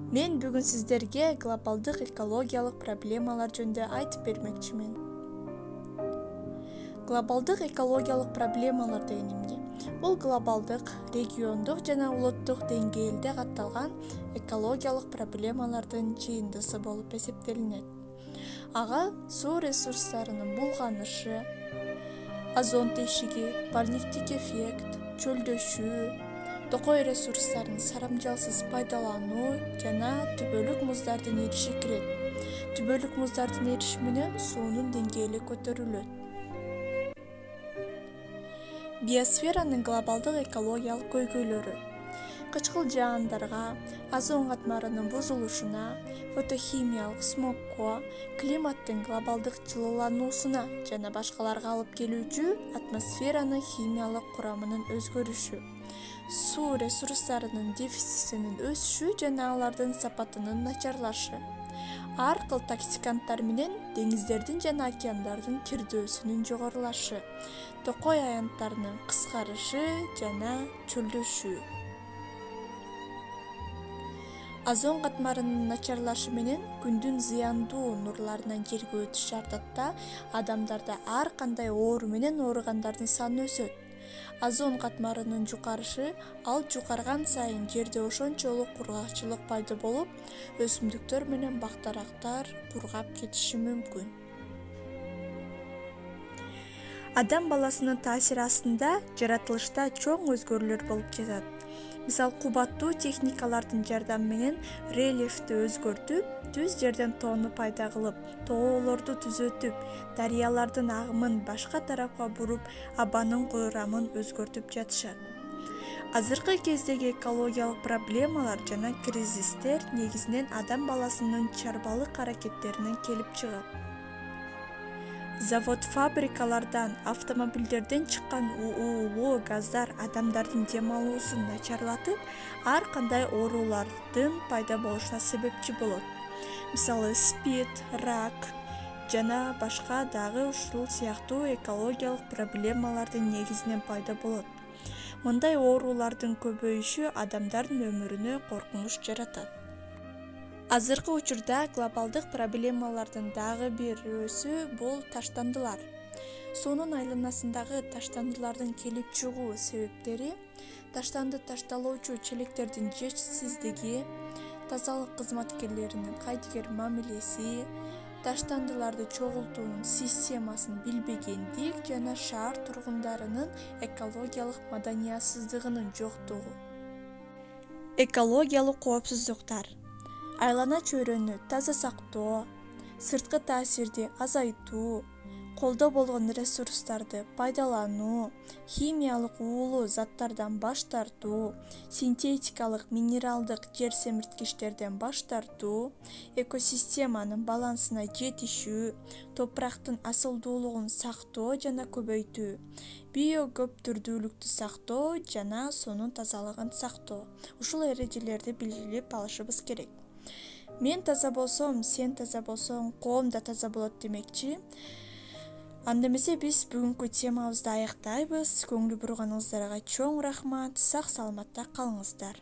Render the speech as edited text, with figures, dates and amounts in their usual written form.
Мен бүгүн сиздерге глобалдык экологиялык проблемалар жөнүндө айтып бермекчимин. Глобалдык экологиялык проблемалар деген эмне? Бул глобалдык, региондук жана улуттук деңгээлде катталган экологиялык проблемалардын жыйындысы болуп эсептелинет. Ага суу ресурстарынын булганышы, озон тешиги, парниктик эффект, чөлдөшүү, токой ресурстарын сарамжалсыз пайдалануу жана түбөлүк муздардын эриши кирет. Түбөлүк муздардын эриши менен суунун деңгээли көтөрүлөт. Биосферанын глобалдык экологиялык көйгөйлөрү: кычкыл жаандарга, озон катмарынын бузулушуна, фотохимиялык смогко, климаттын глобалдык жылуулануусуна жана башкаларга алып келүүчү атмосферанын химиялык курамынын өзгөрүшү, суу ресурстарынын дефицитинин өсүшү жана алардын сапатынын начарлашы, ар кыл токсиканттар менен деңиздердин жана океандардын кирдөөсүнүн жогорулашы, токой аянттарынын кыскарышы жана чөлдөшүү. Озон катмарынын начарлашы менен күндүн зыяндуу нурларынан жерге өтүшү артат, адамдарда ар кандай оору менен ооругандардын саны өсөт. Озон катмарынын жукарышы, ал жукарган сайын жерде ошончолук кургакчылык пайда болуп, өсүмдүктөр менен бактарактар кургап кетиши мүмкүн. Адам баласынын таасири астында жаратылышта чоң өзгөрүүлөр болуп жатат. Мисалы, кубаттуу техникалардын жардамы менен рельефти өзгөртүп, түз жерден тоону пайда кылып, тоолорду түзөтүп, дарыялардын агымын башка тарапка буруп, абанын курамын өзгөртүп жатышат. Азыркы кездеги экологиялык проблемалар жана кризистер негизинен адам баласынын чарбалык аракеттеринен келип чыгат. Завод-фабрикалардан, автомобилдерден чыккан уулуу газдар адамдардын дем алуусун начарлатып, ар кандай оорулардын пайда болушуна себепчи болот. Мисалы, СПИД, рак жана башка дагы ушул сыяктуу экологиялык проблемалардын негизинен пайда болот. Мындай оорулардын көбөйүшү адамдардын өмүрүнө коркунуч жаратат. Азыркы учурда глобалдык проблемалардын дагы бирөөсү бул таштандылар. Суунун айланасындагы таштандылардын келип чыгуу себептери: таштанды ташталуучу челектердин жетишсиздиги, тазалык кызматкерлеринин кайдыгер мамилеси, таштандыларды чогултуунун системасын билбегендик жана шаар тургундарынын экологиялык маданиятсыздыгынын жоктугу. Экологиялык коопсуздуктар: айлана чөйрөнү таза сактоо, сырткы таасирди азайтуу, колдо болгон ресурстарды пайдалануу, химиялык уулуу заттардан баш тартуу, синтетикалык минералдык жер семирткичтерден баш тартуу, экосистеманын балансына жетишүү, топурактын асылдуулугун сактоо жана көбөйтүү, биокөптүрдүүлүктү сактоо жана суунун тазалыгын сактоо. Ушул эрежелерди билип алышыбыз керек. Мен таза болсом, сен таза болсоң, коом да таза болот демекчи. Анда эмесе биз бүгүнкү темабызды аяктайбыз. Көңүл бурганыңыздарга чоң рахмат. Сак саламатта калыңыздар.